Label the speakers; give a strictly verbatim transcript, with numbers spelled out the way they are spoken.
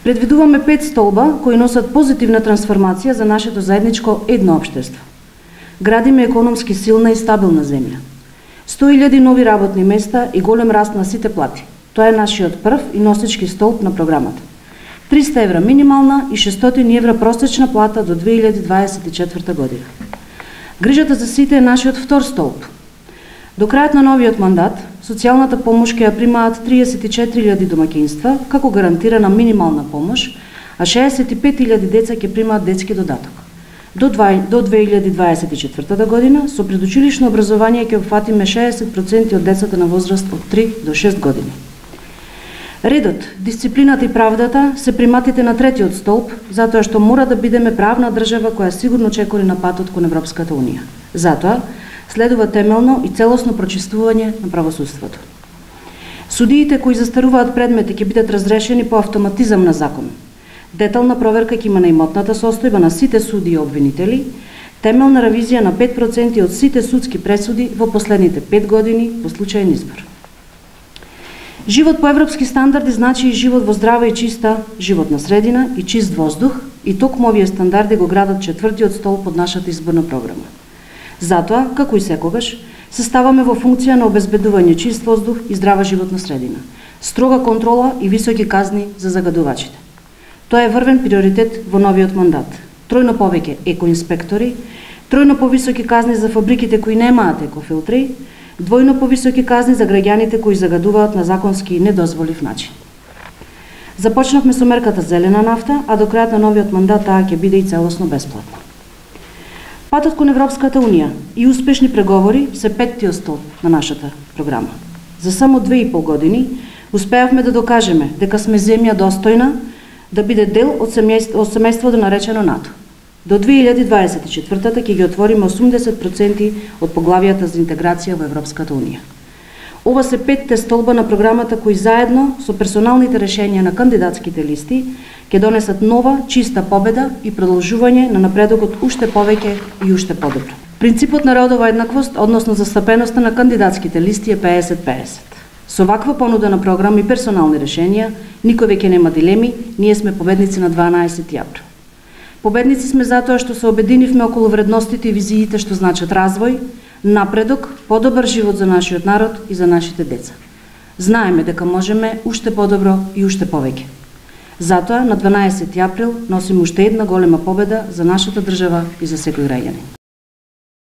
Speaker 1: Предвидуваме пет столба кои носат позитивна трансформација за нашето заедничко едно општество. Градиме економски силна и стабилна земја. сто илјади нови работни места и голем раст на сите плати. Тоа е нашиот прв и носечки столб на програмата. триста евра минимална и шестстотини евра просечна плата до две илјади дваесет и четврта година. Грижата за сите е нашиот втор столб. До крајот на новиот мандат, социјалната помош ќе ја примаат триесет и четири илјади домаќинства како гарантирана минимална помош, а шеесет и пет илјади деца ќе примаат детски додаток. До две илјади дваесет и четврта година, со предучилишно образование ќе опфатиме шеесет проценти од децата на возраст од три до шест години. Редот, дисциплината и правдата се приматите на третиот столб, затоа што мора да бидеме правна држава која сигурно чекори на патот кон Европската унија. Затоа, следува темелно и целосно прочиствување на правосудството. Судиите кои застаруваат предмети ќе бидат разрешени по автоматизам на закон. Детална проверка ќе има на имотната состојба на сите суди и обвинители, темелна ревизија на пет проценти од сите судски пресуди во последните пет години по случаен избор. Живот по европски стандарди значи и живот во здрава и чиста животна средина и чист воздух, и токму овие стандарди го градат четвртиот столб од нашата изборна програма. Затоа, како и секогаш, се ставаме во функција на обезбедување чист воздух и здрава животна средина, строга контрола и високи казни за загадувачите. Тоа е врвен приоритет во новиот мандат. Тројно повеќе екоинспектори, тројно повисоки казни за фабриките кои немаат екофилтри, двојно повисоки казни за граѓаните кои загадуваат на законски недозволив начин. Започнавме со мерката зелена нафта, а до крајот на новиот мандат таа ќе биде и целосно бесплатна. Патот кон Европската унија и успешни преговори се петтиот столб на нашата програма. За само две и пол години успеавме да докажеме дека сме земја достојна да биде дел од семејството наречено НАТО. До две илјади дваесет и четврта ќе ги отвориме осумдесет проценти од поглавијата за интеграција во Европската унија. Ова се петте столба на програмата кои заедно со персоналните решенија на кандидатските листи ќе донесат нова, чиста победа и продолжување на напредокот уште повеќе и уште подобро. Принципот на родова еднаквост, односно застапеноста на кандидатските листи е педесет педесет. Со ваква понуда на програма и персонални решенија, никој веќе нема дилеми, ние сме победници на дванаесети април. Победници сме затоа што се обединивме околу вредностите и визиите што значат развој, напредок, подобар живот за нашиот народ и за нашите деца. Знаеме дека можеме уште подобро и уште повеќе. Затоа на дванаесети април носиме уште една голема победа за нашата држава и за секој граѓанин.